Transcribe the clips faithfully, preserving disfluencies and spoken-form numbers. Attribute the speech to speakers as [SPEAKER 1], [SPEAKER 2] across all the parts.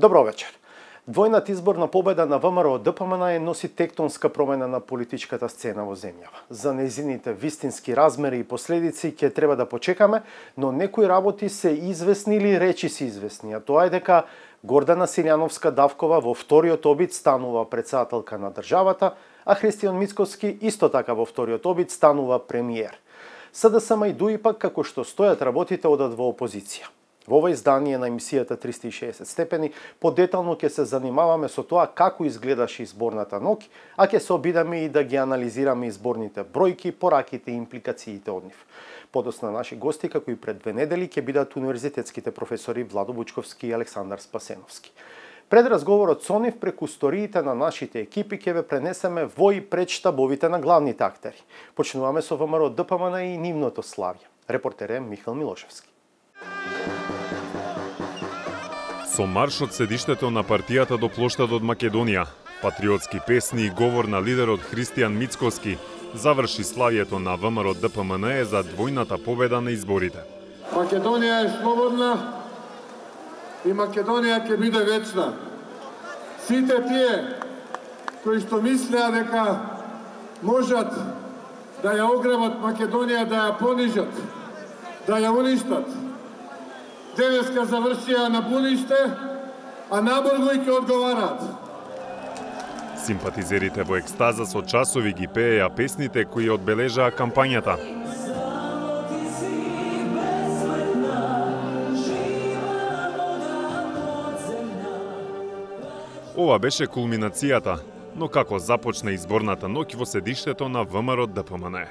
[SPEAKER 1] Добро вечер. Двојната изборна победа на ВМРО Д П М Н носи тектонска промена на политичката сцена во земјава. За нејзините вистински размери и последици ќе треба да почекаме, но некои работи се известни или речи се известни, а тоа е дека Гордана Силјановска-Давкова во вториот обид станува претседателка на државата, а Христијан Мицкоски исто така во вториот обид станува премиер. С Д С М и Д У И пак, како што стојат работите, одат во опозиција. Во ова издание на емисијата триста и шеесет степени подетално ќе се занимаваме со тоа како изгледаше изборната ноќ, а ќе се обидаме и да ги анализираме изборните бројки, пораките и импликациите од нив. Подосна наши гости, како и пред две недели, ќе бидат универзитетските професори Владо Бучковски и Александар Спасеновски. Пред разговорот со нив преку сториите на нашите екипи ќе ве пренесеме во и пред штабовите на главните актери. Почнуваме со ВМРО Д П М Н и нивното славје. Репортер е Михаил Милошевски.
[SPEAKER 2] Со марш од седиштето на партијата до плоштадот Македонија, патриотски песни и говор на лидерот Христијан Мицкоски заврши славието на ВМРО Д П М Н за двојната победа на изборите.
[SPEAKER 3] Македонија е слободна и Македонија ќе биде вечна. Сите тие кои што мислеа дека можат да ја ограбат Македонија, да ја понижат, да ја уништат, денеска завршија на буниште, а наборго и ќе одговараат.
[SPEAKER 2] Симпатизерите во екстаза со часови ги пееја песните кои одбележаа кампањата. Ова беше кулминацијата, но како започна изборната ноќ во седиштето на ВМРО Д П М Н.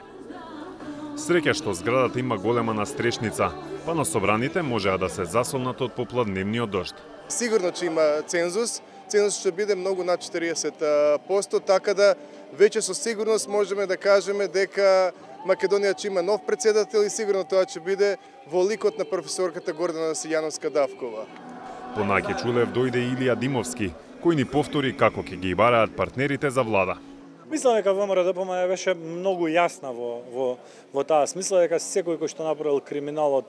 [SPEAKER 2] Среќа што зградата има голема настрешница, па на собраните можеа да се засолнат од попладневниот дожд.
[SPEAKER 4] Сигурно че има цензус, цензус ќе биде многу над четириесет проценти, така да веќе со сигурност можеме да кажеме дека Македонија ќе има нов претседател и сигурно тоа ќе биде во ликот на професорката Гордана Силјановска-Давкова.
[SPEAKER 2] Понаќе Чулев дојде Илија Димовски, кој ни повтори како ќе ги бараат партнерите за влада.
[SPEAKER 5] Мислам дека ВМРО Д П М Н беше многу јасна во, во, во таа смисла, дека секој кој што направил криминал од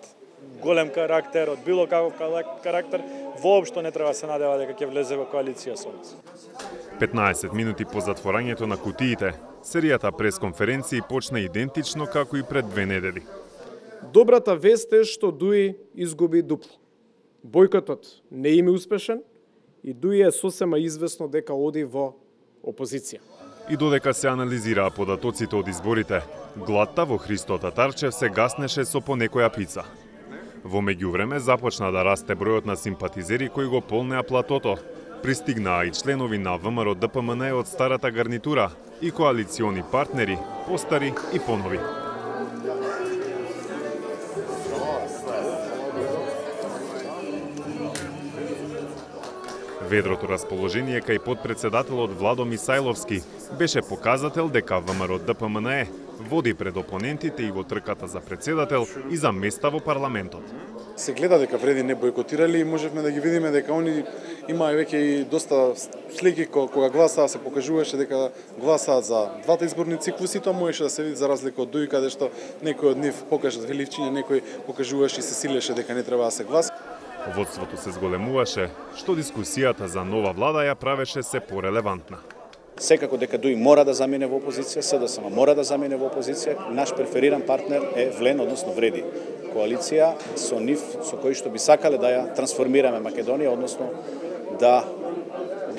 [SPEAKER 5] голем карактер, од било каков карактер, воопшто не треба се надева дека ќе влезе во коалиција со нас.
[SPEAKER 2] петнаесет минути по затворањето на кутиите, серијата пресконференции почна идентично како и пред две недели.
[SPEAKER 6] Добрата вест е што Д У И изгуби дупло. Бојкотот не им е успешен и Д У И е сосема известно дека оди во опозиција.
[SPEAKER 2] И додека се анализираа податоците од изборите, гладта во Христо Татарчев се гаснеше со по некоја пица. Во меѓувреме започна да расте бројот на симпатизери кои го полнеа платото. Пристигнаа и членови на ВМРО Д П М Н од старата гарнитура и коалициони партнери, постари и понови. Ведрото расположение кај подпредседателот Владо Мисајловски беше показател дека ВМРО Д П М Н води пред опонентите и во трката за председател и за места во парламентот.
[SPEAKER 7] Се гледа дека преди не бојкотирали и можевме да ги видиме дека они имаа веќе и доста слики кога гласаа, се покажуваше дека гласаат за двата изборни циклуси, тоа можеше да се види за разлика од Д У И, каде што некој од нив покажат величиња, некој покажуваше и се силеше дека не треба да се гласа.
[SPEAKER 2] Водството се зголемуваше, што дискусијата за нова влада ја правеше се порелевантна.
[SPEAKER 8] Секако дека Д У И мора да замине во опозиција, С Д С М мора да замине во опозиција, наш префериран партнер е Влен, односно Вреди. Коалиција со нив, со кои што би сакале да ја трансформираме Македонија, односно да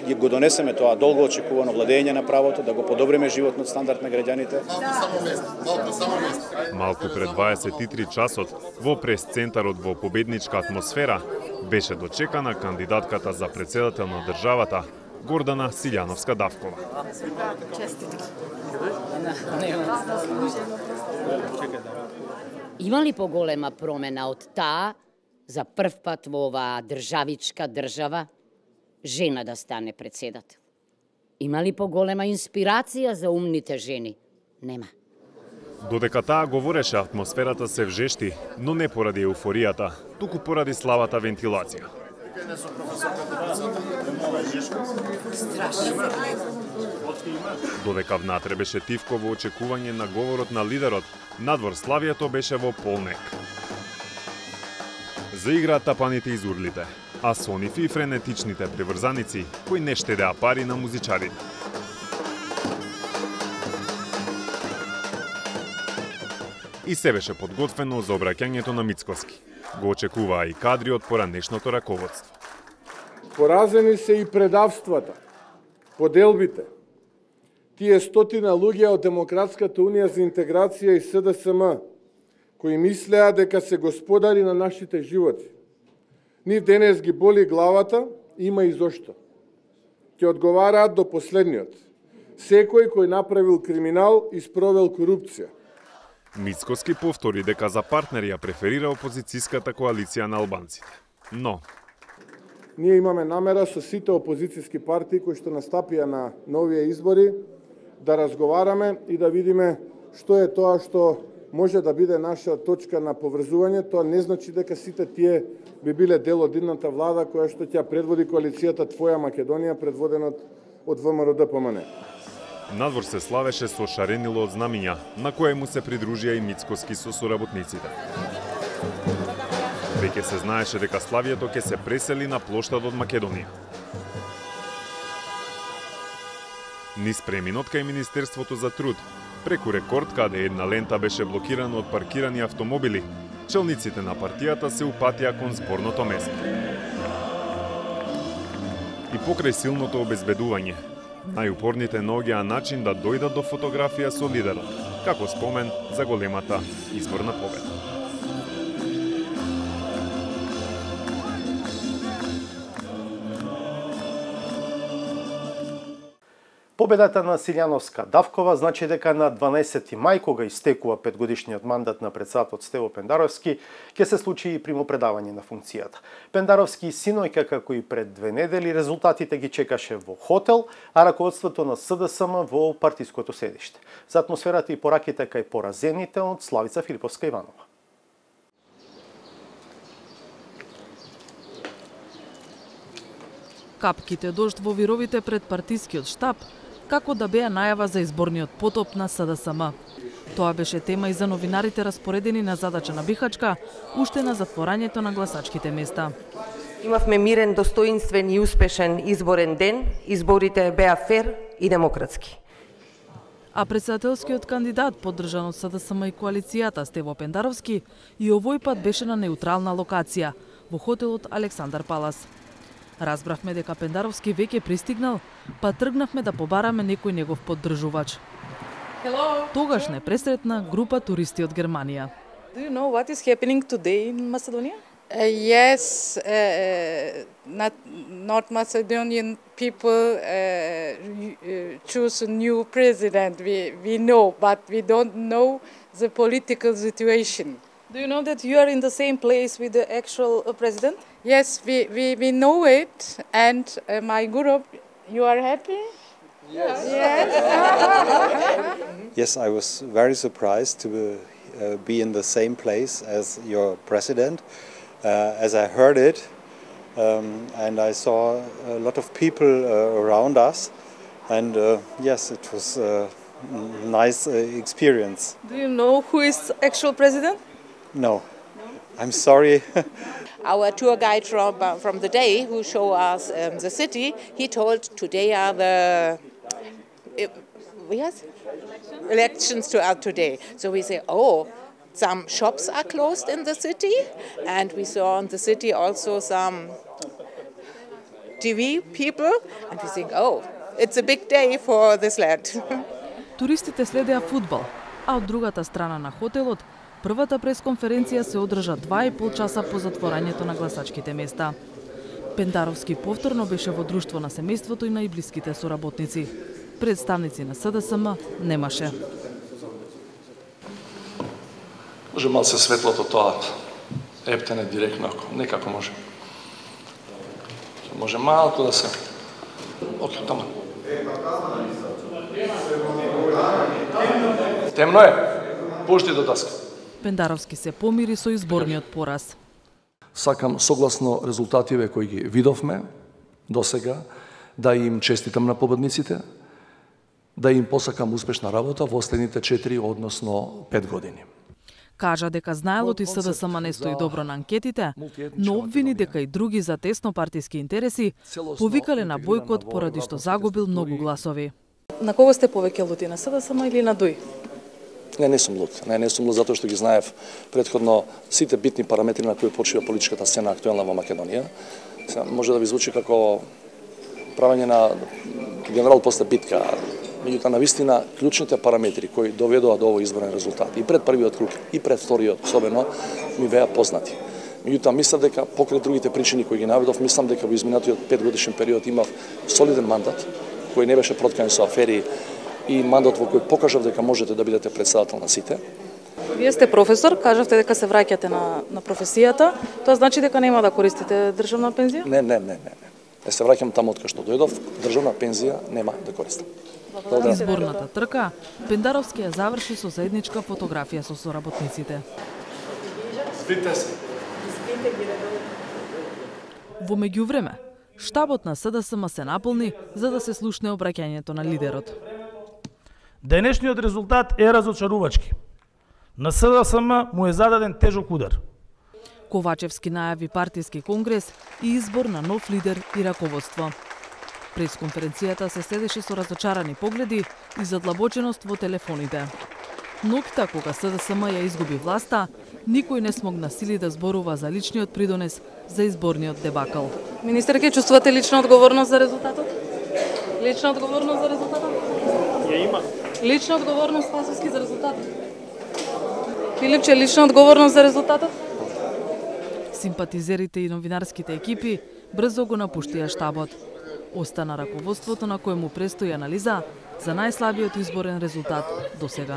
[SPEAKER 8] го донесеме тоа долго очекувано владење на правото, да го подобриме животниот стандард на граѓаните.
[SPEAKER 2] Малку пред дваесет и три часот, во прес-центарот во победничка атмосфера, беше дочекана кандидатката за председател на државата, Гордана Силјановска-Давкова.
[SPEAKER 9] Има ли поголема промена од таа за прв пат во оваа државичка држава жена да стане председател? Има ли поголема инспирација за умните жени? Нема.
[SPEAKER 2] Додека таа говореше, атмосферата се вжешти, но не поради еуфоријата, туку поради слабата вентилација. Додека внатре беше тивко во очекување на говорот на лидерот, надвор славието беше во полнек. Заиграа тапаните из урлите. а со нив и френетичните приврзаници кои не штедеа пари на музичарите. И се беше подготвено за обраќањето на Мицкоски. Го очекуваа и кадри од поранешното раководство.
[SPEAKER 3] Поразени се и предавствата, поделбите. Тие стотина луѓе од Демократската унија за интеграција и С Д С М, кои мислеа дека се господари на нашите животи. Нив денес ги боли главата, има и зошто. Ќе одговараат до последниот. Секој кој направил криминал и спровел корупција.
[SPEAKER 2] Мицкоски повтори дека за партнери ја преферира опозицијската коалиција на албанците. Но
[SPEAKER 3] ние имаме намера со сите опозицијски партии кои што настапија на новија избори да разговараме и да видиме што е тоа што може да биде наша точка на поврзување. Тоа не значи дека сите тие би биле дел од идната влада која што ќе предводи коалицијата Твоја Македонија, предводена од В М Р Д П М Н.
[SPEAKER 2] надвор се славеше со шаренило од знамиња, на кое му се придружија и Мицкоски со соработниците. Веќе се знаеше дека славието ќе се пресели на плоштадот Македонија. Низ преминот кај Министерството за труд, преку рекорд каде една лента беше блокирана од паркирани автомобили, челниците на партијата се упатија кон зборното место. И покрај силното обезбедување, најупорните наоѓаа начин да дојдат до фотографија со лидерот, како спомен за големата изборна победа.
[SPEAKER 1] Победата на Силјановска Давкова значи дека на дванаесети мај, кога истекува петгодишниот мандат на председателот Стево Пендаровски, ќе се случи и примопредавање на функцијата. Пендаровски синојка, како и пред две недели, резултатите ги чекаше во хотел, а раководството на С Д С М во партиското седиште. За атмосферата и пораките кај поразените од Славица Филиповска-Иванова.
[SPEAKER 10] Капките дожд во вировите пред партискиот штаб, како да беа најава за изборниот потоп на С Д С М. Тоа беше тема и за новинарите распоредени на задача на Бихачка, уште на затворањето на гласачките места.
[SPEAKER 11] Имавме мирен, достоинствен и успешен изборен ден. Изборите беа фер и демократски.
[SPEAKER 10] А председателскиот кандидат, поддржан од С Д С М и коалицијата Стево Пендаровски, и овој пат беше на неутрална локација, во хотелот Александар Палас. Разбравме дека Пендаровски веќе пристигнал, па тргнавме да побараме некој негов поддржувач.
[SPEAKER 12] Hello.
[SPEAKER 10] Тогаш не пресретна група туристи од Германија.
[SPEAKER 12] Do you know what is happening today in Macedonia?
[SPEAKER 13] Uh, yes, uh, not not Macedonian people uh, choose a new president. We we know, but we don't know the political situation.
[SPEAKER 12] Do you know that you are in the same place with the actual uh, president?
[SPEAKER 13] Yes, we, we, we know it, and uh, my group, you are happy?
[SPEAKER 12] Yes.
[SPEAKER 13] Yes.
[SPEAKER 14] Yes, I was very surprised to uh, be in the same place as your president, uh, as I heard it, um, and I saw a lot of people uh, around us, and uh, yes, it was a nice uh, experience.
[SPEAKER 12] Do you know who is actual president?
[SPEAKER 14] No, I'm sorry.
[SPEAKER 15] Our tour guide from, uh, from the day who showed us um, the city, he told today are the uh, yes? Elections? Elections to uh, today. So we say, oh, some shops are closed in the city, and we saw in the city also some T V people, and we think, oh, it's a big day for this land.
[SPEAKER 10] Туристите следеа фудбал, а од другата страна на хотелот првата пресконференција се одржа два и пол часа по затворањето на гласачките места. Пендаровски повторно беше во друштво на семејството и на и блиските соработници. Представници на С Д С М немаше.
[SPEAKER 16] Може мал се светлото тоа ептене директно, некако може. Може малку да се Океј, тама. Темно е. Пушти до таска.
[SPEAKER 10] Пендаровски се помири со изборниот пораз.
[SPEAKER 17] Сакам согласно резултативе кои ги видовме до сега да им честитам на победниците, да им посакам успешна работа во следните четири, односно пет години.
[SPEAKER 10] Кажа дека знаелот и СДСМ не стои добро на анкетите, но обвини дека и други за теснопартиски интереси повикале на бојкот поради што загубил многу гласови.
[SPEAKER 12] На кого сте повеќе лути, на СДСМ или на ДУИ?
[SPEAKER 17] Не, не сум лут. Не, не сум лут затоа што ги знаев претходно сите битни параметри на кои почива политичката сцена актуелна во Македонија. Сега, може да ви звучи како правење на генерал после битка, меѓутоа на вистина клучните параметри кои доведоа до овој изборен резултат и пред првиот круг и пред вториот особено ми беа познати. Меѓутоа мислам дека покрај другите причини кои ги наведов, мислам дека во изминатиот петгодишен период имав солиден мандат кој не беше проткан со афери и мандат во кој покажав дека можете да бидете председател на сите.
[SPEAKER 12] Вие сте професор, кажавте дека се враќате на на професијата, тоа значи дека нема да користите државна пензија?
[SPEAKER 17] Не, не, не, не. Не се враќам таму од кај што дојдов, државна пензија нема да користам.
[SPEAKER 10] Изборната трка, Пендаровски ја заврши со заедничка фотографија со соработниците. Во меѓувреме, штабот на СДСМ се наполни за да се слушне обраќањето на лидерот.
[SPEAKER 18] Денешниот резултат е разочарувачки. На СДСМ му е зададен тежок удар.
[SPEAKER 10] Ковачевски најави партиски конгрес и избор на нов лидер и раководство. Пресконференцијата се следеше со разочарани погледи и задлабоченост во телефоните. Ноќта кога СДСМ ја изгуби власта, никој не смогна сили да зборува за личниот придонес за изборниот дебакал.
[SPEAKER 12] Министер, ќе чувствувате лична одговорност за резултатот? Лична одговорност за резултатот?
[SPEAKER 18] Ја има.
[SPEAKER 12] Лична одговорност Спасовски за резултатот? Филипче, лична одговорност за резултатот?
[SPEAKER 10] Симпатизерите и новинарските екипи брзо го напуштија штабот. Остана раководството на кој му престои анализа за најслабиот изборен резултат до сега.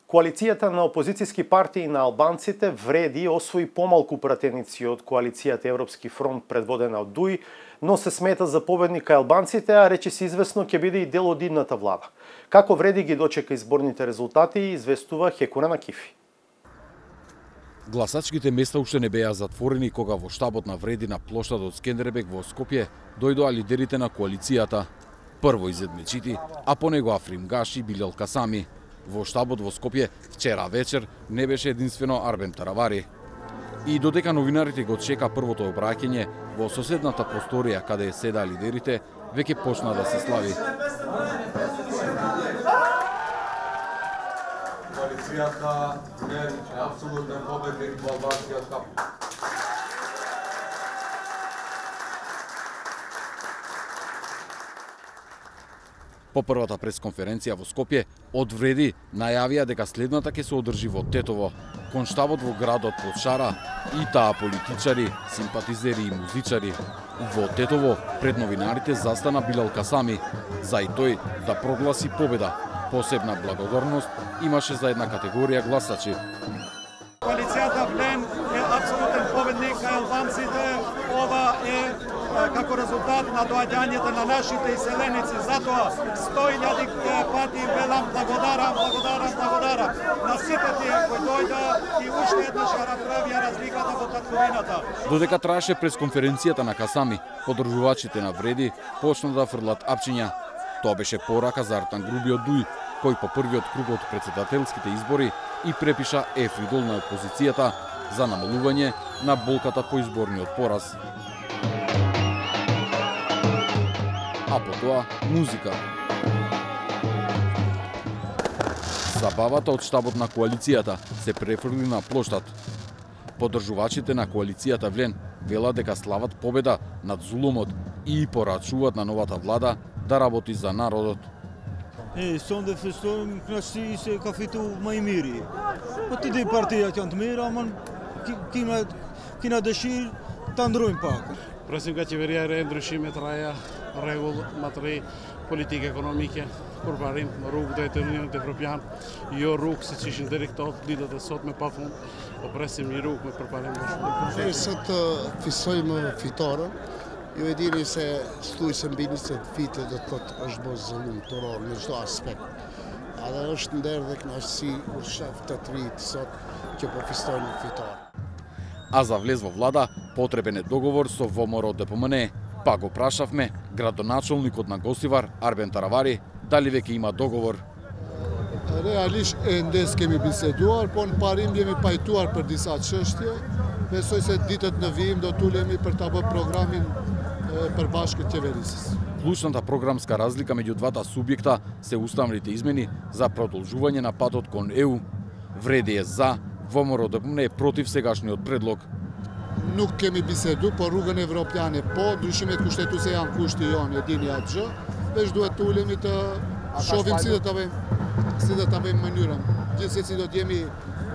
[SPEAKER 1] Коалицијата на опозицијски партии на албанците вреди освои помалку пратеници од коалицијата Европски фронт предводена од ДУИ, но се смета за победник кај албанците, а рече се известно ќе биде и дел од идната влада. Како вреди ги дочека изборните резултати, известува Хекуна Накифи.
[SPEAKER 19] Гласачките места уште не беа затворени кога во штабот на вреди на плоштадот Скендербек во Скопје дојдоа лидерите на коалицијата. Прво Изет Мечити, а по него Африм Гаши и Билал Касами. Во штабот во Скопје вчера вечер не беше единствено Арбен Таравари. И додека новинарите го чека првото обраќање во соседната просторија каде седаа лидерите, веќе почна да се слави.
[SPEAKER 20] Коалицијата е апсолутен победник во албанскиот кап.
[SPEAKER 19] По првата пресконференција во Скопје, од вреди најавија дека следната ќе се одржи во Тетово, кон штабот во градот под шара, и таа политичари, симпатизери и музичари. Во Тетово пред новинарите застана Билал Касами, за и тој да прогласи победа. Посебна благодарност имаше за една категорија гласачи.
[SPEAKER 21] Коалицијата Блен е апсолутен победник кај албанците. Ова е како резултат на доаѓањето на нашите иселеници. Затоа сто илјади пати велам благодарам, благодарам, благодарам на сите тие кои дојдоа и уште еднаш ја направија разликата во татковината.
[SPEAKER 19] Додека траеше пресконференцијата на Касами, поддржувачите на вреди почна да фрлат апчиња. Тоа беше порака за Артан Груби од ДУИ, кој по првиот круг од претседателските избори и препиша ефридол на опозицијата за намалување на болката по изборниот пораз. А потоа музика. Забавата од штабот на коалицијата се префрли на плоштад. Поддржувачите на коалицијата Влен велат дека слават победа над зулумот и порачуваат на новата влада да работи за народот.
[SPEAKER 22] E sonde förstår knassi se ka fitu më i miri. Po të di partijat janë të mira, ama kina kina dëshirë ta ndrojmë pak.
[SPEAKER 23] Presim nga qeveria e re ndryshime të reja, rregull më të re, politikë ekonomike, kur parim rrugë drejt Unionit Evropian, jo rrugë siç ishin deri këto ditët e sotme pafund, po presim një rrugë me përparim më shumë.
[SPEAKER 24] Derisa të fisojmë fitoren, ju e dini se stuj se mbi njëzet vite do të thotë është bërë zëllum të rol në çdo aspekt. Edhe është nder dhe kënaqësi kur shef të të rit sot që po fistojnë fitore.
[SPEAKER 19] А за влез во влада потребен е договор со ВМРО Д П М Н. Па го прашавме градоначалникот на Гостивар Арбен Таравари дали веќе има договор.
[SPEAKER 24] Realisht e ndes kemi biseduar, po në parim jemi pajtuar për disa çështje. Besoj se ditët në vijim do tulemi për ta bërë programin për bashkët qeverisës.
[SPEAKER 19] Клучната програмска разлика меѓу двата субјекта се уставните измени за продолжување на патот кон Е У. Вреди е за, ВМРО-ДПМН е против сегашниот предлог.
[SPEAKER 24] Nuk kemi bisedu, por rrugën evropiane po, ndryshimet kushtetuese janë kushti jonë, e dini atë gjë, veç duhet të ulemi të shohim si do ta bëjmë, si do ta bëjmë mënyrën. Gjithsesi do të jemi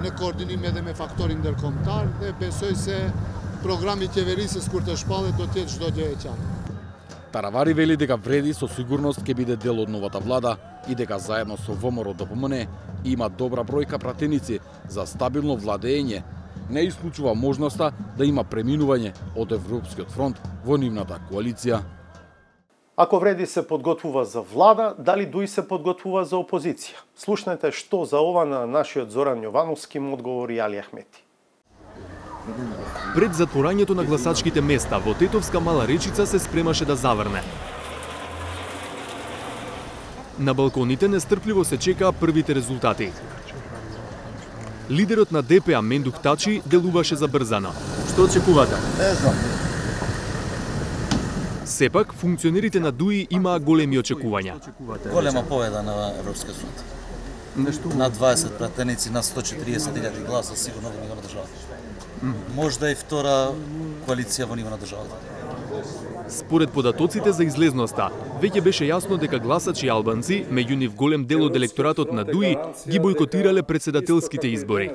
[SPEAKER 24] në koordinim edhe me faktorin ndërkombëtar dhe besoj se programi i qeverisës kur të shpallet do të jetë çdo gjë e qartë.
[SPEAKER 19] Таравари вели дека Вреди со сигурност ќе биде дел од новата влада и дека заедно со ВМРО-ДПМН има добра бројка пратеници за стабилно владење. Не исклучува можноста да има преминување од Европскиот фронт во нивната коалиција.
[SPEAKER 1] Ако Вреди се подготвува за влада, дали Дуи се подготвува за опозиција? Слушнете што за ова на нашиот Зоран Јовановски му одговори Али Ахмети.
[SPEAKER 4] Пред затворањето на гласачките места во Тетовска Мала Речица се спремаше да заврне. На балконите нестрпливо се чекаа првите резултати. Лидерот на Де Пе А Мендух Тачи делуваше забрзано.
[SPEAKER 5] Што очекувате? Не знам.
[SPEAKER 4] Сепак, функционерите на Дуи имаа големи очекувања.
[SPEAKER 5] Голема победа на Европскиот фронт. Нешто на дваесет пратеници на сто четириесет илјади гласа сигурно во ниво на државата. Можда и втора коалиција во ниво на државата.
[SPEAKER 4] Според податоците за излезноста, веќе беше јасно дека гласачи албанци, меѓу нив голем дел од електоратот на Дуи, ги бойкотирале председателските избори.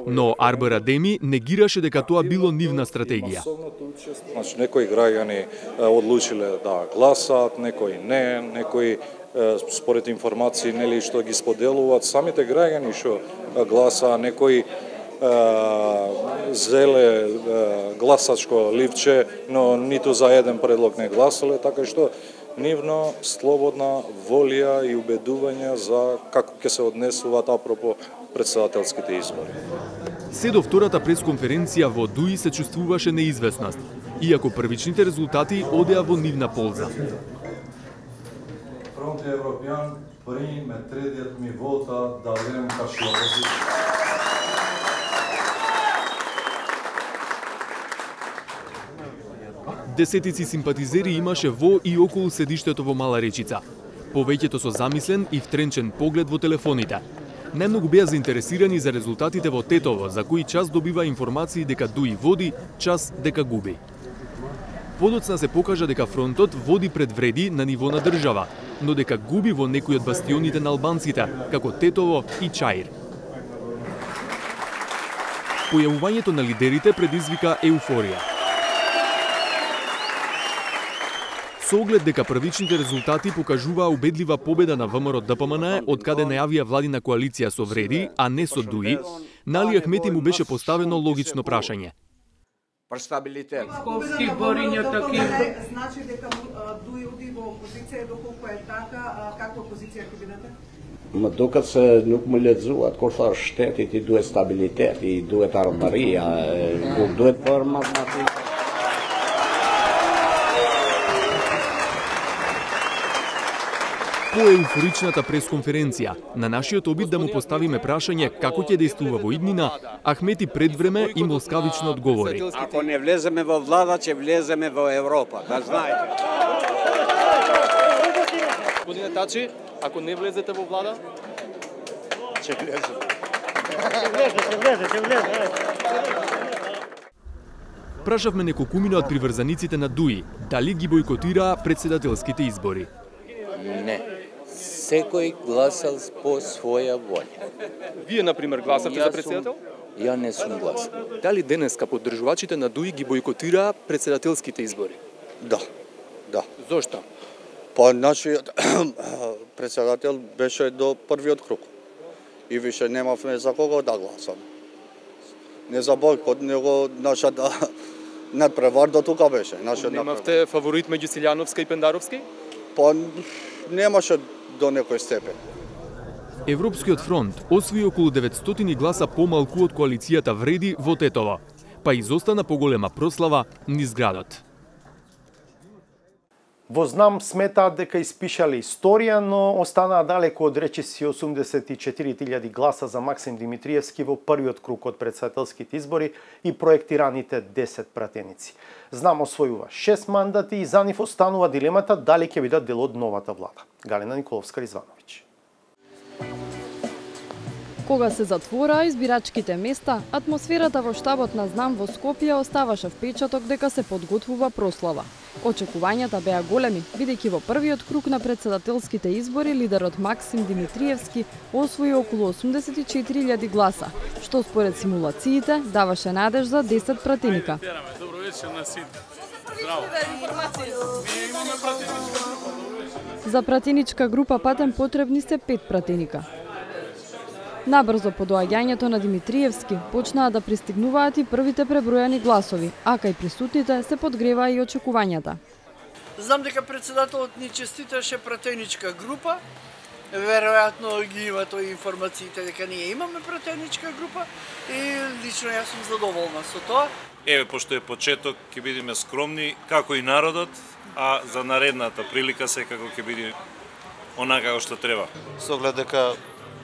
[SPEAKER 4] Но Арбер Адеми негираше дека тоа било нивна стратегија.
[SPEAKER 6] Значи, некои граѓани одлучиле да гласат, некои не, некои според информации нели што ги споделуваат самите граѓани што гласаа, некои зеле гласачко ливче, но ниту за еден предлог не гласале, така што нивно слободна волја и убедување за како ќе се однесуваат апропо председателските избори.
[SPEAKER 4] Се до втората пресконференција во Дуи се чувствуваше неизвестност, иако првичните резултати одеа во нивна полза.
[SPEAKER 20] Фронт Европјан приме третиот ми вота да време каши опозиција.
[SPEAKER 4] Десетици симпатизери имаше во и околу седиштето во Мала Речица. Повеќето со замислен и втренчен поглед во телефоните. Најмногу беа заинтересирани за резултатите во Тетово, за кои час добива информации дека Дуи води, час дека губи. Подоцна се покажа дека фронтот води пред Вреди на ниво на држава, но дека губи во некои од бастионите на албанците, како Тетово и Чаир. Појавувањето на лидерите предизвика еуфорија. Со оглед дека првичните резултати покажуваа убедлива победа на ВМРО-ДПМН, од каде најавија владина коалиција со Вреди, а не со Дуи, на Али Ахмети му беше поставено логично прашање.
[SPEAKER 7] Стабилитет.
[SPEAKER 25] Сковски бориња такива. Значи дека Дуи оди во опозиција, доколку е така, каква опозиција ќе бидете?
[SPEAKER 7] Më duket se nuk më lexuat kur thash shtetit i duhet stabilitet, i duhet ardharia, nuk duhet për matematikë.
[SPEAKER 4] По еуфоричната пресконференција, на нашиот обид да му поставиме прашање како ќе дејствува во иднина, Ахмети пред време им ласкавично одговори.
[SPEAKER 7] Ако не влеземе во влада, ќе влеземе во Европа, да знаете.
[SPEAKER 4] Господине Тачи, ако не влезете во влада,
[SPEAKER 7] ќе влеземе.
[SPEAKER 25] Ќе влезе, ќе влезе, ќе влезе.
[SPEAKER 4] Прашавме неколкумина од приврзаниците на Дуи, дали ги бойкотираа председателските избори.
[SPEAKER 26] Не. Секој гласал по своја волја.
[SPEAKER 4] Вие, например, гласавте за председател?
[SPEAKER 26] Ја не сум гласал.
[SPEAKER 4] Дали денеска поддржувачите на Дуи ги бойкотираа председателските избори?
[SPEAKER 7] Да, да.
[SPEAKER 4] Зошто?
[SPEAKER 7] Па нашиот председател беше до првиот круг. И више немавме за кого да гласам. Не за бойкот, него нашата надпревар до тука беше.
[SPEAKER 4] Немавте фаворит меѓу Силјановска и Пендаровски?
[SPEAKER 7] Па немаше до некој степен.
[SPEAKER 4] Европскиот фронт освои околу деветстотини гласа помалку од коалицијата Вреди во Тетово, па изостана поголема прослава низ градот.
[SPEAKER 1] Во Знам сметаат дека испишале историја, но останаа далеко од речиси осумдесет и четири илјади гласа за Максим Димитриевски во првиот круг од претседателските избори и проектираните десет пратеници. Знам освојува шест мандати и за нив останува дилемата дали ќе бидат дел од новата влада. Галина Николовска-Ризвановиќ.
[SPEAKER 2] Кога се затвораа избирачките места, атмосферата во штабот на Знам во Скопје оставаше впечаток дека се подготвува прослава. Очекувањата беа големи, бидејќи во првиот круг на претседателските избори лидерот Максим Димитриевски освои околу осумдесет и четири илјади гласа, што според симулациите даваше надеж за десет пратеника.
[SPEAKER 23] Добро вечер на сите. Здраво.
[SPEAKER 2] За пратеничка група Патем потребни се пет пратеника. Набрзо по доаѓањето на Димитриевски почнаа да пристигнуваат и првите пребројани гласови, а кај присутните се подгреваа и очекувањата.
[SPEAKER 3] Знам дека председателот ни честиташе пратеничка група. Веројатно ги има тој информациите дека ние имаме пратеничка група и лично јас сум задоволна со тоа.
[SPEAKER 8] Еве, пошто е почеток, ќе бидеме скромни како и народот, а за наредната прилика секако ќе биде онака како што треба.
[SPEAKER 9] Со оглед дека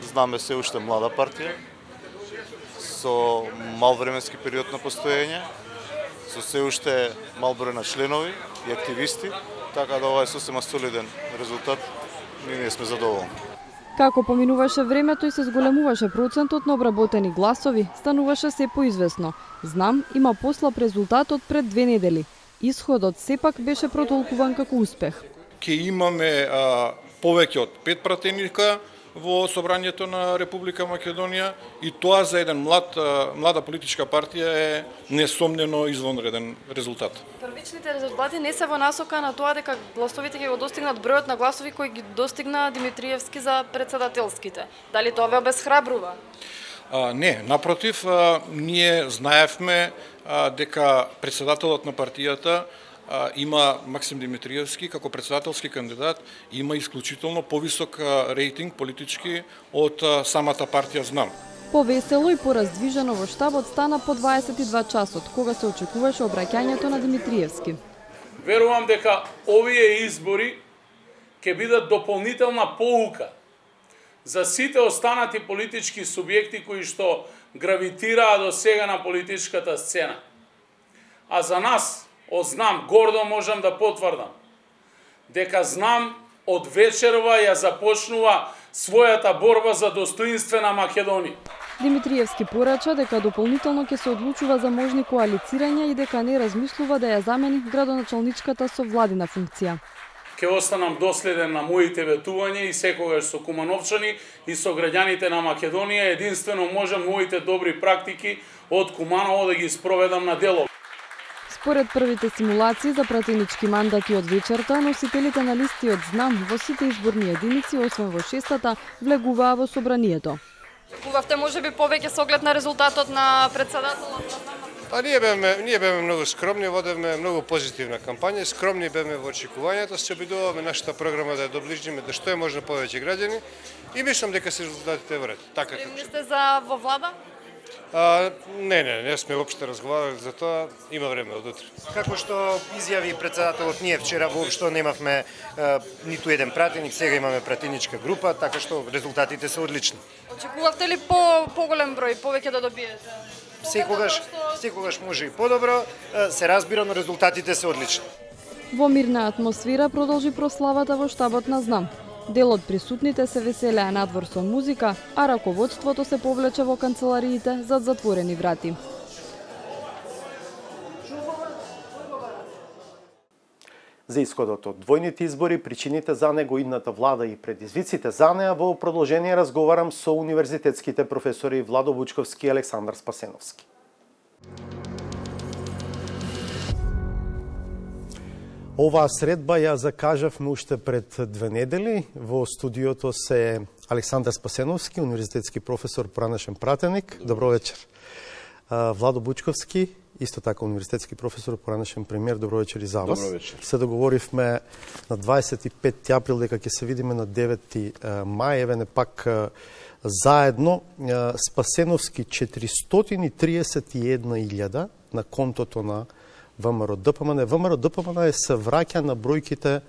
[SPEAKER 9] Знаме се уште млада партија, со мал временски период на постоење, со се уште мал број на членови и активисти, така да ова е сосема солиден резултат, ние сме задоволни.
[SPEAKER 2] Како поминуваше времето и се зголемуваше процентот на обработени гласови, стануваше се поизвестно. Знам има послаб резултатот пред две недели. Исходот сепак беше протолкуван како успех.
[SPEAKER 11] Ке имаме а, повеќе од пет пратеника во собранието на Република Македонија и тоа за еден млад, млада политичка партија е несомнено извонреден резултат.
[SPEAKER 2] Првичните резултати не се во насока на тоа дека гласовите ќе го достигнат бројот на гласови кои ги достигна Димитриевски за претседателските. Дали тоа ве обесхрабрува?
[SPEAKER 11] А, не, напротив, а, ние знаевме а, дека претседателот на партијата има Максим Димитриевски како претседателски кандидат, има исклучително повисок рейтинг политички од самата партија Знам.
[SPEAKER 2] Повесело и пораздвижено во штабот стана по дваесет и два часот, кога се очекуваше обраќањето на Димитриевски.
[SPEAKER 23] Верувам дека овие избори ќе бидат дополнителна поука за сите останати политички субјекти кои што гравитираа до сега на политичката сцена. А за нас, од Знам, гордо можам да потврдам дека Знам од вечерва ја започнува својата борба за достоинствена Македонија.
[SPEAKER 2] Димитриевски порача дека дополнително ќе се одлучува за можни коалицирања и дека не размислува да ја замени градоначалничката со владина функција.
[SPEAKER 23] Ке останам доследен на моите ветувања и секогаш со Кумановчани и со граѓаните на Македонија единствено можам моите добри практики од Куманово да ги спроведам на дело.
[SPEAKER 2] Според првите симулации за пратенички мандати од вечерта, носителите на листи од Знам во сите изборни единици, освен во шестата, влегуваа во собранието. Очекувавте можеби повеќе со оглед на резултатот на претседателот?
[SPEAKER 13] Па ние беме, ние беме многу скромни, водевме многу позитивна кампања, скромни беме во очекувањата, се обидуваме нашата програма да ја доближиме до што е можно повеќе граѓани и мислам дека се резултатите во ред. Така како
[SPEAKER 2] сте за во влада?
[SPEAKER 13] А, не, не, не сме воопшто разговарали за тоа, има време од утре.
[SPEAKER 27] Како што изјави претседателот, ние вчера воопшто немавме а, ниту еден пратеник, сега имаме пратеничка група, така што резултатите се одлични.
[SPEAKER 2] Очекувавте ли по поголем број, повеќе да добиете?
[SPEAKER 27] Секогаш, секогаш може и подобро, се разбира, но резултатите се одлични.
[SPEAKER 2] Во мирна атмосфера продолжи прославата во штабот на Знам. Дел од присутните се веселеа надвор со музика, а раководството се повлече во канцелариите зад затворени врати.
[SPEAKER 1] За исходот од двојните избори, причините за него, идната влада и предизвиците за неа во продолжение разговарам со универзитетските професори Владо Вучковски и Александар Спасеновски. Оваа средба ја закажавме уште пред две недели. Во студиото се Александар Спасеновски, универзитетски професор, поранешен пратеник. Добро вечер. Владо Бучковски, исто така универзитетски професор, поранешен премиер. Добро вечер и за вас.
[SPEAKER 28] Добро вечер.
[SPEAKER 1] Се договоривме на дваесет и петти април дека ќе се видиме на деветти мај. Еве не пак заедно. Спасеновски четиристотини триесет и една илјада на контото на ВМРО Д П М Н. ВМРО Д П М Н се враќа на бројките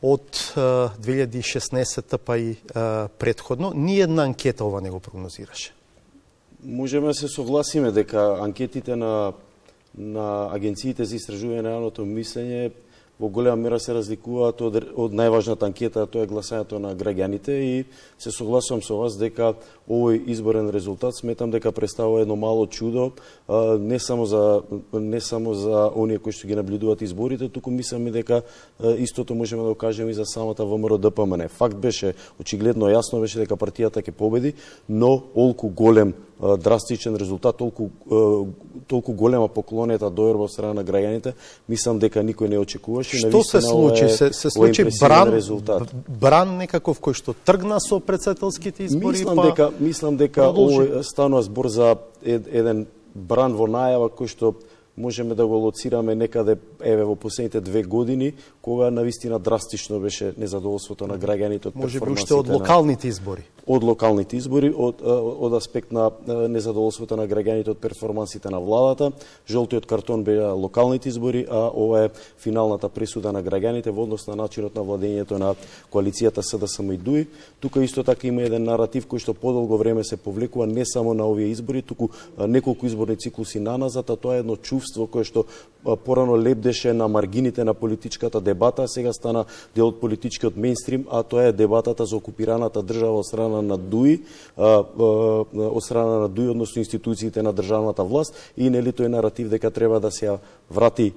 [SPEAKER 1] од две илјади и шеснаесетта па и предходно. Ни една анкета ова не го прогнозираше.
[SPEAKER 10] Можеме да се согласиме дека анкетите на на агенциите за истражување на јавното мислење во голема мера се разликуваат од, од најважната анкета, тоа е гласањето на граѓаните, и се согласувам со вас дека овој изборен резултат сметам дека представува едно мало чудо, а, не само за не само за оние кои што ги наблюдуваат изборите, туку мислам и дека а, истото можеме да го кажеме и за самата ВМРО Д П М Н. Факт беше, очигледно јасно беше дека партијата ќе победи, но олку голем драстичен резултат, толку толку голема поклонета дојрба од страна на граѓаните, мислам дека никој не очекуваше.
[SPEAKER 1] Што се случи? Се, се случи бран, резултат. бран некаков кој што тргна со претседателските избори?
[SPEAKER 10] Мислам
[SPEAKER 1] па
[SPEAKER 10] дека мислам дека овој станува збор за ед, еден бран во најава кој што можеме да го лоцираме некаде еве во последните две години, кога навистина драстично беше незадоволството на граѓаните од
[SPEAKER 1] може би уште од локалните избори.
[SPEAKER 10] Од локалните избори, од, од аспект на незадоволството на граѓаните од перформансите на владата. Жолтиот картон беа локалните избори, а ова е финалната пресуда на граѓаните во однос на начинот на владењето на коалицијата С Д С М и Д У И. Тука исто така има еден наратив кој што подолго време се повлекува не само на овие избори, туку неколку изборни циклуси наназад, а тоа е едно чувство кое што порано лепдеше на маргините на политичката дебата, сега стана дел од политичкиот мејнстрим, а тоа е дебатата за окупираната држава од страна на Д У И, од страна на Д У И, односно институциите на државната власт, и нели тој наратив дека треба да се врати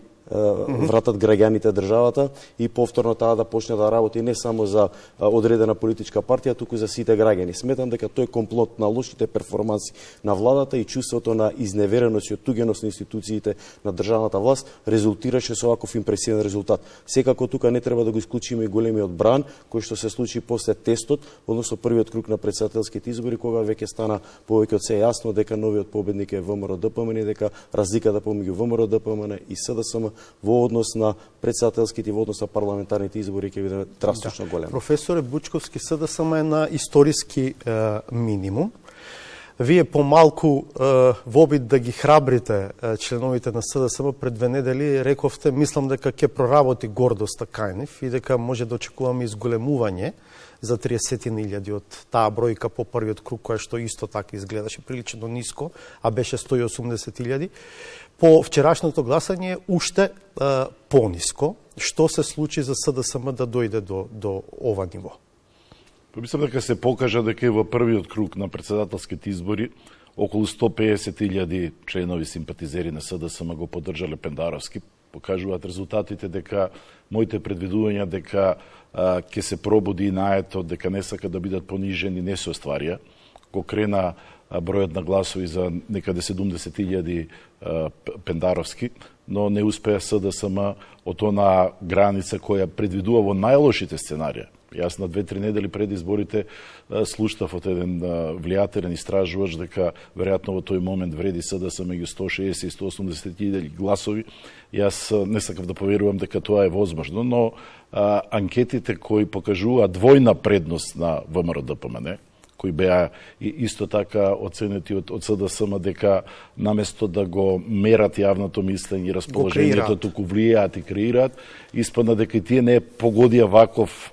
[SPEAKER 10] вратат граѓаните државата и повторно таа да почне да работи не само за одредена политичка партија, туку за сите граѓани. Сметам дека тој комплот на лошите перформанси на владата и чувството на изневереност и оттугеност на институциите на државната власт резултираше со ваков импресивен резултат. Секако тука не треба да го исклучиме и големиот бран кој што се случи после тестот, односно првиот круг на претседателските избори, кога веќе стана повеќе од се јасно дека новиот победник е ВМРО Д П М Н и дека разликата помеѓу ВМРО Д П М Н и С Д С М во однос на претседателските и во однос на парламентарните избори ќе биде драстично да. голем.
[SPEAKER 1] Професоре Бучковски, С Д С М е на историски е, минимум. Вие помалку е, во обид да ги храбрите е, членовите на С Д С М пред две недели рековте, мислам дека ќе проработи Гордо Стакајнев и дека може да очекуваме изголемување за триесет илјади од таа бројка по првиот круг, која што исто така изгледаше прилично ниско, а беше сто и осумдесет илјади. По вчерашното гласање уште е, пониско. Што се случи за С Д С М да дојде до, до ова ниво?
[SPEAKER 12] Мислам дека се покажа дека во првиот круг на претседателските избори околу сто и песет илјади членови симпатизери на С Д С М го поддржале Пендаровски. Покажуваат резултатите дека моите предвидувања дека ќе се пробуди наетот, дека не сака да бидат понижени, не се остварија. Ко крена бројот на гласови за некаде седумдесет илјади Пендаровски, но не успеа С Д С М од она граница која предвидува во најлошите сценарија. Јас на две-три недели пред изборите слуштав од еден влијателен истражувач дека веројатно во тој момент вреди С Д С М меѓу сто и шеесет и сто и осумдесет илјади гласови. Јас не сакав да поверувам дека тоа е возможно, но а, анкетите кои покажуваат двојна предност на ВМРО Д П М Н, кои беа исто така оценети од, од С Д С М дека наместо да го мерат јавното мислење и расположението, туку влијаат и креираат, испадна дека и тие не погодија ваков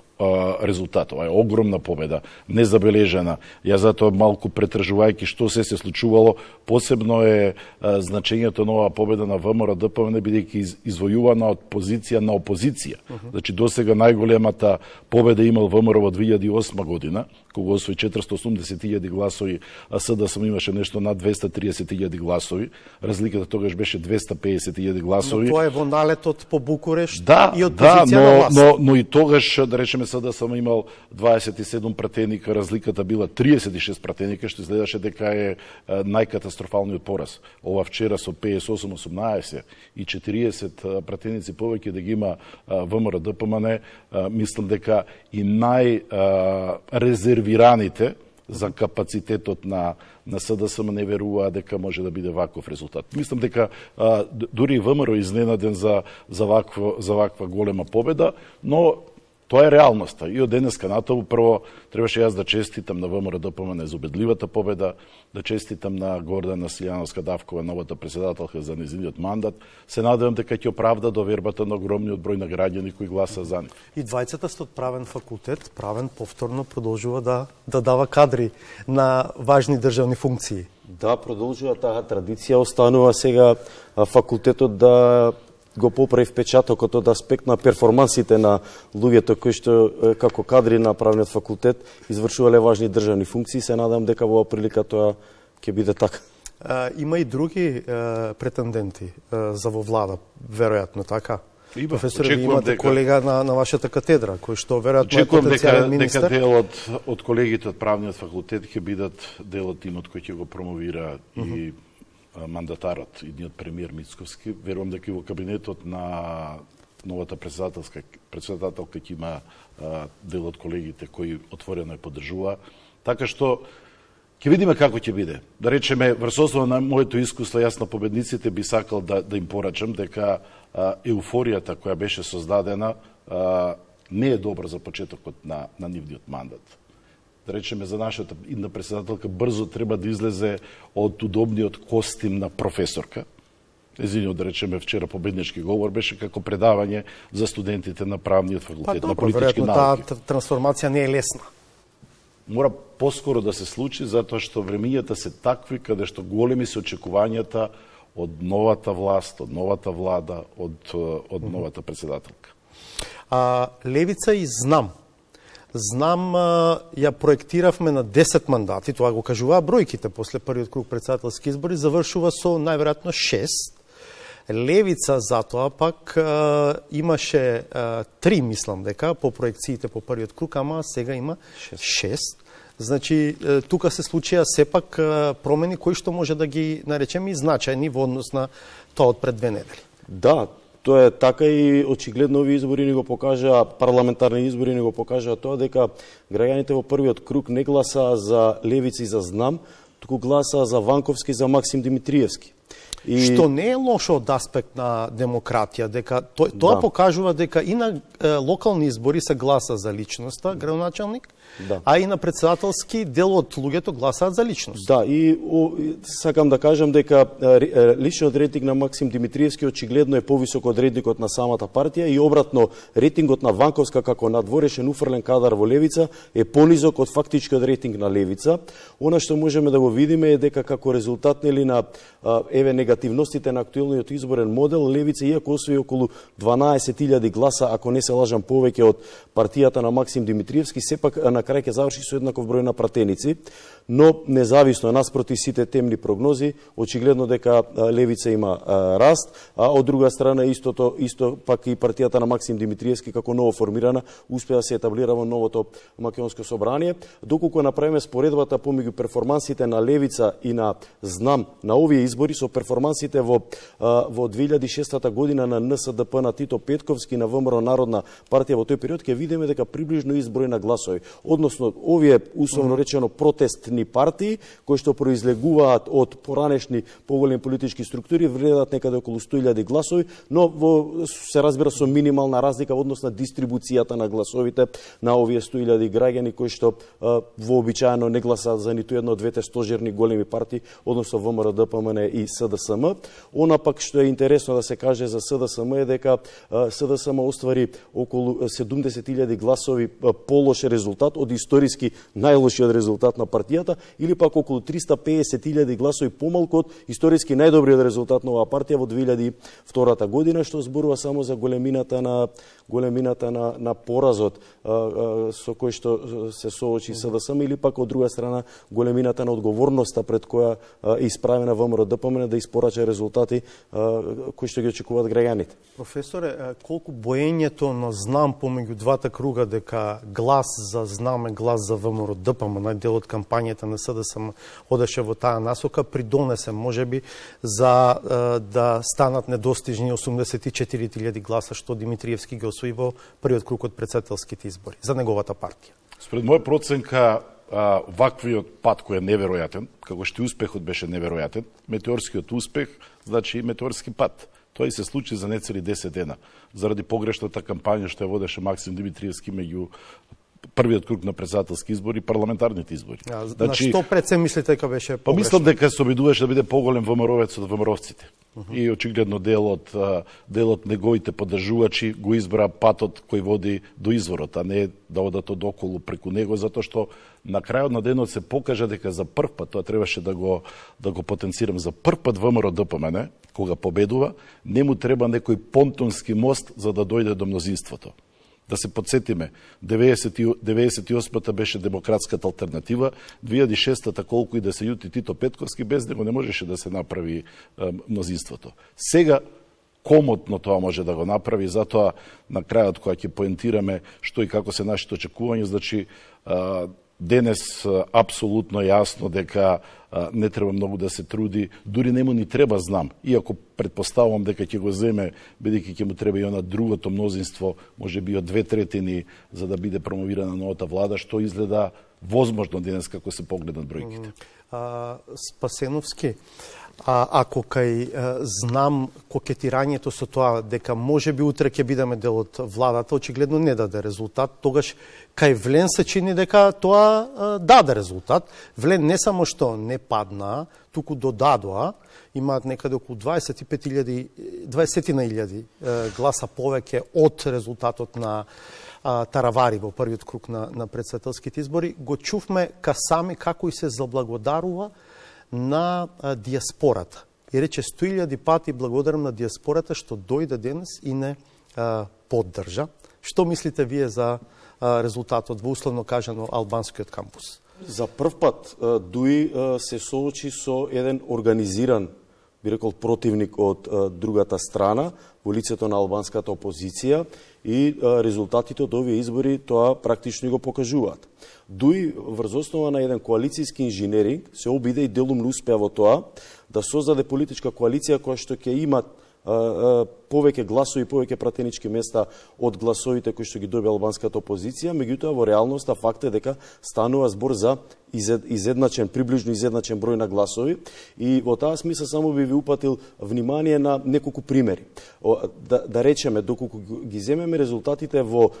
[SPEAKER 12] резултат. Ова е огромна победа, незабележена. Ја затоа малку претражувајќи што се се случувало, посебно е а, значењето на оваа победа на ВМРО Д П М Н бидејќи из, извојувана од позиција на опозиција. Uh -huh. Значи досега најголемата победа имал ВМРО во две илјади и осма година, кога освои четиристо и осумдесет илјади гласови, а С Д С М имаше нешто над двесте и триесет илјади гласови. Разликата тогаш беше двесте и песет илјади гласови.
[SPEAKER 1] Но тоа е во налетот по Букурешт
[SPEAKER 12] да,
[SPEAKER 1] и од
[SPEAKER 12] да,
[SPEAKER 1] позиција
[SPEAKER 12] но,
[SPEAKER 1] на власт.
[SPEAKER 12] но, но и тогаш, да речеме, С Д С М имал дваесет и седум пратеника, разликата била триесет и шест пратеника, што изгледаше дека е најкатастрофалниот пораз. Ова вчера со песет и осум осумнаесет и четириесет пратеници повеќе да ги има ВМРО Д П М Н, мислам дека и најрезервираните за капацитетот на на С Д С М не веруваат дека може да биде ваков резултат. Мислам дека а, дури и ВМРО изненаден за за ваква за ваква голема победа, но Тоа е реалноста. И од денеска натаму прво требаше јас да честитам на ВМРО-ДПМН за убедливата победа, да честитам на Гордана Силјановска-Давкова, новата председателка, за нејзиниот мандат. Се надевам дека ќе оправда довербата на огромниот број на граѓани кои гласа за нив.
[SPEAKER 1] И двајцата сте од правен факултет, правен повторно продолжува да да дава кадри на важни државни функции.
[SPEAKER 10] Да, продолжува таа традиција, останува сега факултетот да го поправи впечатокот од аспект на перформансите на луѓето кои што како кадри на правниот факултет извршувале важни државни функции. Се надам дека во прилика тоа ќе биде така.
[SPEAKER 1] А, има и други а, претенденти а, за во влада, веројатно така.
[SPEAKER 12] Има,
[SPEAKER 1] професор, ви имате дека... колега на, на вашата катедра, кој што веројатно е
[SPEAKER 12] дека,
[SPEAKER 1] потенцијален министер.
[SPEAKER 12] дека дел од, од колегите од правниот факултет ќе бидат дел од тимот кој ќе го промовира uh -huh. и мандатарот, идниот премиер Мицковски. Верувам дека и во кабинетот на новата председателска председателка ќе има а, дел од колегите кои отворено ја поддржува. Така што ќе видиме како ќе биде. Да речеме, врз основа на моето искуство, јас на победниците би сакал да, да им порачам дека а, еуфоријата која беше создадена а, не е добра за почетокот на, на нивниот мандат. Да речеме, за нашата идна председателка брзо треба да излезе од удобниот костим на професорка. Езиниот, да речеме, вчера победнички говор беше како предавање за студентите на правниот факултет,
[SPEAKER 1] па,
[SPEAKER 12] на политички науки.
[SPEAKER 1] Таа трансформација не е лесна.
[SPEAKER 12] Мора поскоро да се случи, затоа што времињата се такви каде што големи се очекувањата од новата власт, од новата влада, од, од новата председателка.
[SPEAKER 1] А, Левица и Знам. Знам, ја проектиравме на десет мандати, тоа го кажуваа бројките после првиот круг председателски избори, завршува со најверојатно шест. Левица затоа пак а, имаше а, три, мислам дека, по проекциите по првиот круг, ама сега има шест. Значи, тука се случија сепак промени кои што може да ги наречеме и значајни во однос на тоа од пред две недели.
[SPEAKER 10] Да, тоа е така и очигледно овие избори ни го покажаа, парламентарни избори ни го покажаа тоа дека граѓаните во првиот круг не гласаа за Левица и за Знам, туку гласаа за Ванковски и за Максим Димитриевски.
[SPEAKER 1] И... Што не е лошо од аспект на демократија, дека тоа, тоа да. покажува дека и на е, локални избори се гласа за личноста, градоначалник, да. а и на председателски дел од луѓето гласаат за личност.
[SPEAKER 10] Да, и о, сакам да кажам дека е, личниот рейтинг на Максим Димитриевски очигледно е повисок од рейтингот на самата партија и обратно рейтингот на Ванковска како надворешен уфрлен кадар во Левица е понизок од фактичкиот рейтинг на Левица. Она што можеме да го видиме е дека како резултат нели на еве негативностите на актуелниот изборен модел, Левица иако освои околу дванаесет илјади гласа, ако не се лажам повеќе од партијата на Максим Димитриевски, сепак на крај ќе заврши со еднаков број на пратеници, но независно наспроти сите темни прогнози, очигледно дека Левица има а, раст, а од друга страна истото исто пак и партијата на Максим Димитриевски како ново формирана успеа да се етаблира во новото македонско собрание. Доколку направиме споредбата помеѓу перформансите на Левица и на Знам на овие избори со перформансите во во две илјади и шеста година на Н С Д П на Тито Петковски на ВМРО Народна партија во тој период, ќе видиме дека приближно изброј на гласови, односно овие условно речено протестни партии кои што произлегуваат од поранешни поголеми политички структури вредат некаде околу сто илјади гласови, но во се разбира со минимална разлика во однос на дистрибуцијата на гласовите на овие сто илјади граѓани кои што вообичаено не гласаат за ниту една од двете стожерни големи партии, односно ВМРО Д П М Н и С Д С М. Она пак што е интересно да се каже за С Д С М е дека С Д С М оствари околу седумдесет илјади гласови полош резултат од историски најлошиот резултат на партијата, или пак околу триста пеесет илјади гласови помалку од историски најдобриот резултат на оваа партија во две илјади и втора година, што зборува само за големината на големината на на поразот а, а, со кој што се соочи С Д С М, или пак од друга страна големината на одговорноста пред која е исправена ВМРО Д П М Н да испорача резултати а, кои што ги очекуваат граѓаните.
[SPEAKER 1] Професоре, колку боењето на Знам помеѓу двата круга дека глас за Знам е глас за ВМРО Д П М Н, дел од кампањата на С Д С М одеше во таа насока, придонесе можеби за а, да станат недостижни осумдесет и четири илјади гласа што Димитриевски ги освои во првиот круг од председателските избори за неговата партија.
[SPEAKER 12] Според моја проценка, а, ваквиот пат кој е неверојатен, како што успехот беше неверојатен, метеорскиот успех значи и метеорски пат. Тоа и се случи за нецели десет дена, заради погрешната кампања што ја водеше Максим Димитриевски меѓу првиот круг на председателски избори и парламентарните избори.
[SPEAKER 1] А, значи, на што пред се мислите дека беше погрешно?
[SPEAKER 12] Па мислам дека се обидуваше да биде поголем ВМРО-вец од ВМРО-вците. Uh -huh. И очигледно делот делот неговите поддржувачи го избра патот кој води до изворот, а не да одат од околу преку него, затоа што на крајот на денот се покажа дека за прв пат, тоа требаше да го да го потенцирам, за прв пат ВМРО-ДПМН кога победува, не му треба некој понтонски мост за да дојде до мнозинството. Да се подсетиме, деветдесет и осмата беше демократската алтернатива, две илјади и шеста колку и да се јути Тито Петковски, без него не можеше да се направи е, мнозинството. Сега комотно тоа може да го направи, затоа на крајот кога ќе поентираме што и како се нашите очекувања, значи е, денес е, апсолутно јасно дека не треба многу да се труди, дури нему ни треба знам, иако предпоставувам дека ќе го земе, бидејќи ќе му треба и она другото мнозинство, може би од две третини, за да биде промовирана новата влада, што изгледа возможно денес како се погледнат бројките.
[SPEAKER 1] А, Спасеновски, а, ако кај а, знам кокетирањето со тоа дека може би утре ќе бидеме дел од владата, очигледно не даде резултат, тогаш кај Влен се чини дека тоа а, даде резултат. Влен не само што не падна, туку додадоа, имаат некаде околу дваесет и пет илјади, дваесет илјади гласа повеќе од резултатот на а, Таравари во првиот круг на, на председателските избори. Го чувме Касами како и се заблагодарува на а, диаспората. И рече сто илјади пати благодарам на диаспората што дојде денес и не а, поддржа. Што мислите вие за а, резултатот во условно кажано албанскиот кампус?
[SPEAKER 10] За прв пат Дуи се соочи со еден организиран, би рекол, противник од другата страна во лицето на албанската опозиција и резултатите од овие избори тоа практично го покажуваат. Дуи врз основа на еден коалицијски инженеринг се обиде и делумно успеа во тоа да создаде политичка коалиција која што ќе има повеќе гласови, повеќе пратенички места од гласовите кои што ги доби албанската опозиција, меѓутоа во реалноста факт е дека станува збор за изедначен, приближно изедначен број на гласови и во таа смисла само би ви упатил внимание на неколку примери. Да, да речеме, доколку ги земеме резултатите во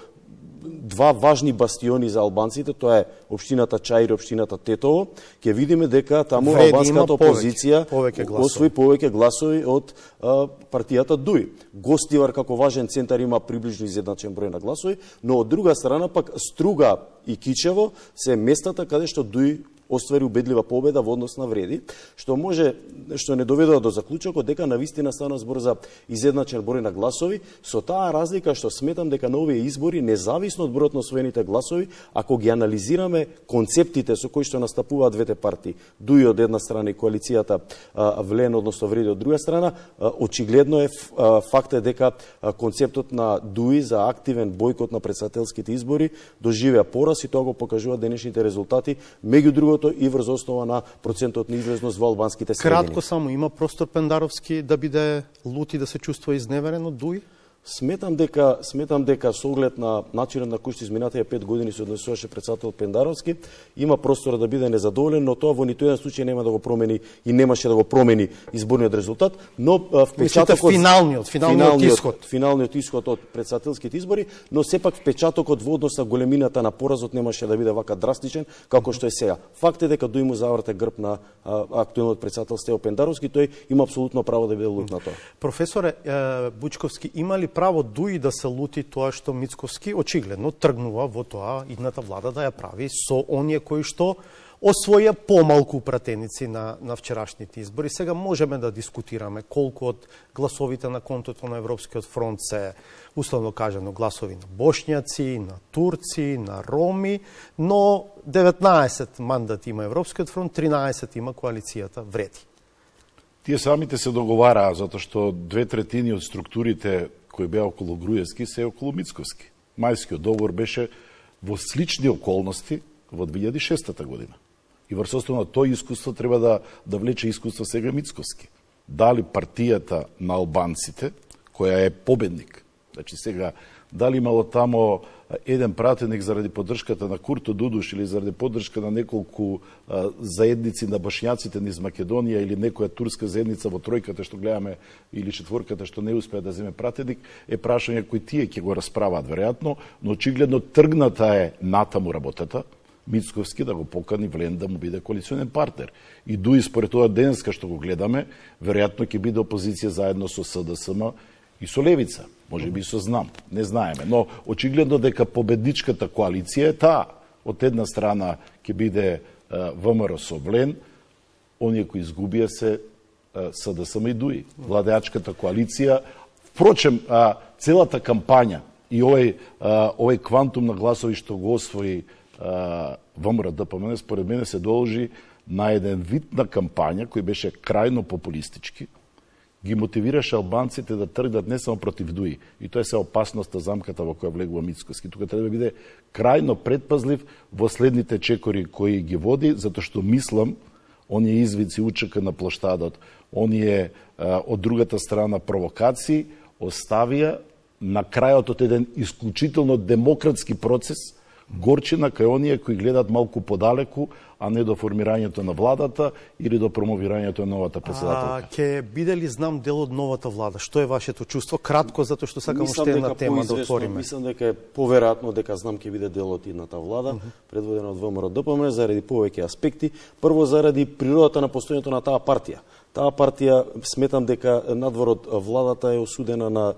[SPEAKER 10] два важни бастиони за албанците, тоа е општината Чаир и општината Тетово, ќе видиме дека таму Вреди албанската опозиција повеќе, повеќе освои повеќе гласови од а, партијата Дуи. Гостивар како важен центар има приближно изедначен број на гласови, но од друга страна пак Струга и Кичево се местата каде што Дуи оствари убедлива победа во однос на Вреди, што може што не доведува до заклучокот дека навистина стана збор за изедначен број на гласови, со таа разлика што сметам дека на овие избори, независно од бројот на освоените гласови, ако ги анализираме концептите со кои што настапуваат двете партии, Дуи од една страна и коалицијата а, Влен, односно Вреди од друга страна, а, очигледно е а, факт е дека а, концептот на Дуи за активен бојкот на претседателските избори доживеа пораз и тоа го покажуваат денешните резултати, меѓу другото и врз основа на процентот на излезност во албанските средини.
[SPEAKER 1] Кратко само, има простор Пендаровски да биде лут и да се чувствува изневерен од Дуи?
[SPEAKER 10] Сметам дека сметам дека со оглед на начинот на кој што изминатите пет години се однесуваше председател Пендаровски, има простор да биде незадоволен, но тоа во ниту еден случај нема да го промени и немаше да го промени изборниот резултат, но
[SPEAKER 1] впечатокот финалниот, финалниот, финалниот исход,
[SPEAKER 10] финалниот исход од председателските избори, но сепак впечатокот во однос на големината на поразот немаше да биде вака драстичен како што е сега. Факт е дека Дуи му заврте грб на а, актуелниот председател Стево Пендаровски, тој има апсолутно право да биде лут на тоа.
[SPEAKER 1] Професоре Бучковски, има ли право Дуи да се лути тоа што Мицковски очигледно тргнува во тоа идната влада да ја прави со оние кои што освоја помалку пратеници на, на вчерашните избори. Сега можеме да дискутираме колку од гласовите на контото на Европскиот фронт се, условно кажано, гласови на бошњаци, на турци, на роми, но деветнаесет мандати има Европскиот фронт, тринаесет има коалицијата Вреди.
[SPEAKER 12] Тие самите се договараа, затоа што две третини од структурите кои беа околу Груевски се околу Мицковски. Мајскиот договор беше во слични околности во две илјади и шеста година. И врз основа на тој искуство треба да, да влече искуство сега Мицковски. Дали партијата на албанците, која е победник, значи сега, дали имало тамо еден пратеник заради поддршката на Курто Дудуш или заради поддршка на неколку а, заедници на башњаците низ Македонија или некоја турска заедница во тројката што гледаме или четворката што не успеа да земе пратеник, е прашање кои тие ќе го расправаат веројатно, но очигледно тргната е натаму работата. Мицковски да го покани Влен да му биде коалиционен партнер. И дуи според тоа денеска што го гледаме, веројатно ќе биде опозиција заедно со СДСМ и со Левица, може би со Знам, не знаеме, но очигледно дека победничката коалиција е таа. Од една страна ќе биде ВМРО со Влен, оние кои изгубија се СДСМ и ДУИ, владеачката коалиција. Впрочем, целата кампања и овој овој квантум на гласови што го освои ВМРО ДПМН според мене се должи на еден вид на кампања кој беше крајно популистички, ги мотивираше албанците да тргнат не само против ДУИ, и тоа е се опасноста, замката во која влегува Мицковски. Тука треба да биде крајно предпазлив во следните чекори кои ги води, затоа што мислам, оние извици учека на плоштадот, оние а, од другата страна провокации, оставија на крајот од еден исклучително демократски процес горчина кај оние кои гледат малку подалеку, а не до формирањето на владата или до промовирањето на новата председателка.
[SPEAKER 1] А ќе биде ли Знам дел од новата влада? Што е вашето чувство? Кратко, затоа што сакам уште една тема да отвориме.
[SPEAKER 10] Мислам дека е поверојатно дека Знам ќе биде дел од идната влада, uh -huh. предводена од ВМРО ДПМН, заради повеќе аспекти. Прво, заради природата на постојањето на таа партија. Таа партија, сметам дека надвор од владата е осудена на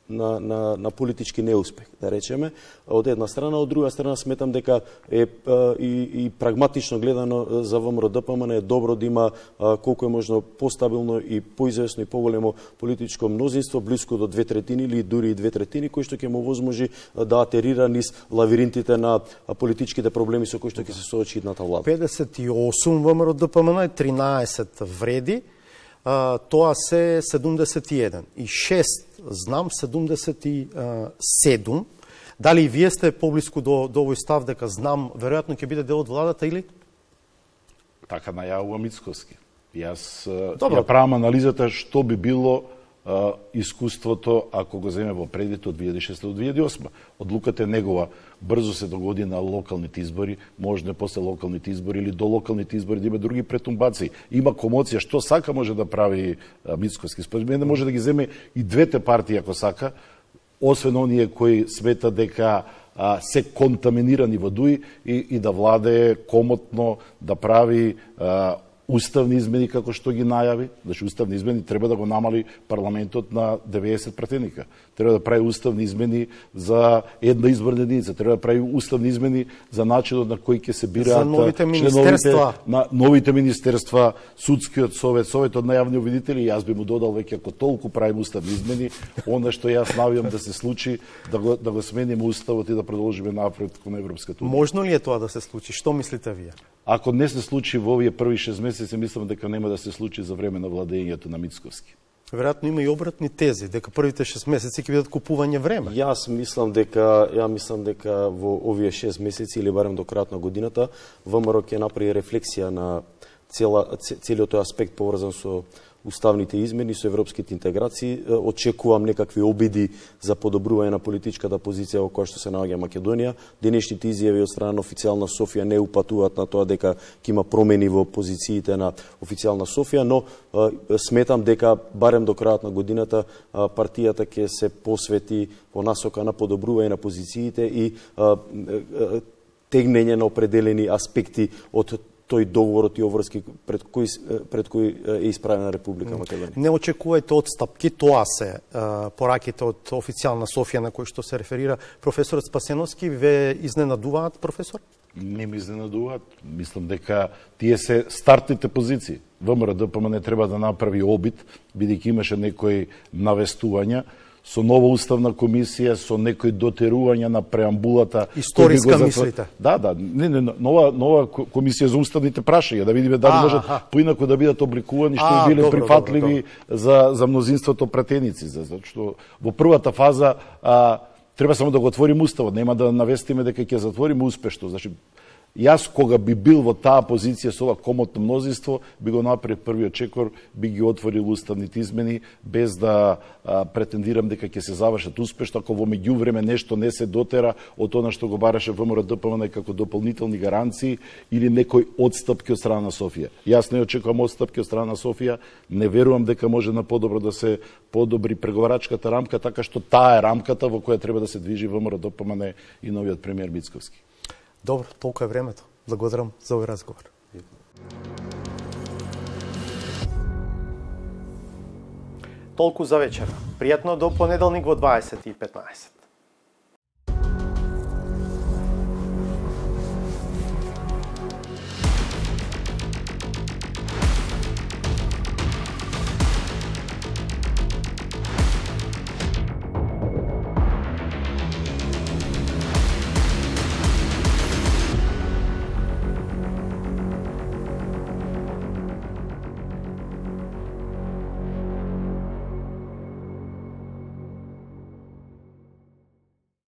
[SPEAKER 10] На, на, на политички неуспех, да речеме, од една страна, од друга страна сметам дека е а, и, и прагматично гледано за ВМРО ДПМН е добро да има а, колку е можно постабилно и поизвестно и поголемо политичко мнозинство, близко до две третини или дури и две третини, кој што ќе му возможи да атерира низ лавиринтите на политичките проблеми со кои што ќе се соочи идната влада.
[SPEAKER 1] педесет и осум ВМРО ДПМН и тринаесет вреди, а, тоа се седумдесет и еден и шест Знам седумдесет и седум. Дали и вие сте поблиску до, до овој став дека Знам веројатно ќе биде дел од владата или?
[SPEAKER 12] Така најавува Мицковски. Јас ја правам анализата што би било а, искуството ако го земе во предвид од две илјади и шеста до две илјади и осма. Одлуката е негова. Брзо се догоди на локалните избори, можно после локалните избори или до локалните избори да има други претумбации. Има комоција, што сака може да прави а, Мицковски. Според мене може да ги земе и двете партии ако сака, освен оние кои смета дека а, се контаминирани во ДУИ и, и да владее комотно, да прави а, уставни измени како што ги најави. Значи уставни измени треба да го намали парламентот на деветдесет пратеника. Треба да прави уставни измени за една изборна единица. Треба да прави уставни измени за начинот на кој ќе се бираат
[SPEAKER 1] новите министерства,
[SPEAKER 12] на новите министерства, судскиот совет, советот на јавни обвинители. Јас би му додал веќе ако толку правим уставни измени, она што јас навијам да се случи, да го да го смениме уставот и да продолжиме напред кон Европската унија.
[SPEAKER 1] Можно ли е тоа да се случи? Што мислите вие?
[SPEAKER 12] Ако не се случи во овие први шест месеци, мислам дека нема да се случи за време на владењето на Мицковски.
[SPEAKER 1] Веројатно има и обратни тези, дека првите шест месеци ќе бидат купување време.
[SPEAKER 10] Јас мислам дека ја мислам дека во овие шест месеци или барем до крајот на годината ВМРО ќе направи рефлексија на цела целиот тој аспект поврзан со уставните измени, со европските интеграции. Очекувам некакви обиди за подобрување на политичката позиција во која што се наоѓа Македонија. Денешните изјави од страна на официјална Софија не упатуваат на тоа дека ќе има промени во позициите на официјална Софија, но сметам дека барем до крајот на годината партијата ќе се посвети во насока на подобрување на позициите и тегнење на определени аспекти од тој договорот и обврски пред кој пред кој е исправена Република Македонија.
[SPEAKER 1] Не очекувајте одстапки, тоа се пораките од официјална Софија на кој што се реферира професорот Спасеновски. Ве изненадуваат, професор?
[SPEAKER 12] Не ми изненадуваат. Мислам дека тие се стартните позиции. ВМРО ДПМН треба да направи обид, бидејќи имаше некои навестувања со нова уставна комисија, со некои дотерувања на преамбулата.
[SPEAKER 1] Историска затвор... мислите?
[SPEAKER 12] Да, да, не, не, нова нова комисија за уставните прашања, да видиме дали можат поинаку да бидат обликувани, што би биле прифатливи за за мнозинството пратеници, зашто во првата фаза а, треба само да го отвориме уставот, нема да навестиме дека ќе затвориме успешно. Значи Јас, кога би бил во таа позиција со ова комотно мнозинство, би го направил првиот чекор, би ги отворил уставните измени, без да а, претендирам дека ќе се завршат успешно, ако во меѓувреме нешто не се дотера од она што го бараше ВМРО Д П М Н како дополнителни гаранции или некои отстапки од страна на Софија. Јас не очекувам отстапки од страна на Софија, не верувам дека може на подобро да се подобри преговарачката рамка, така што таа е рамката во која треба да се движи ВМРО Д П М Н и новиот премиер Мицковски.
[SPEAKER 1] Добро, толку е времето. Благодарам за овој разговор. Толку за вечера. Пријатно до понеделник во дваесет и петнаесет.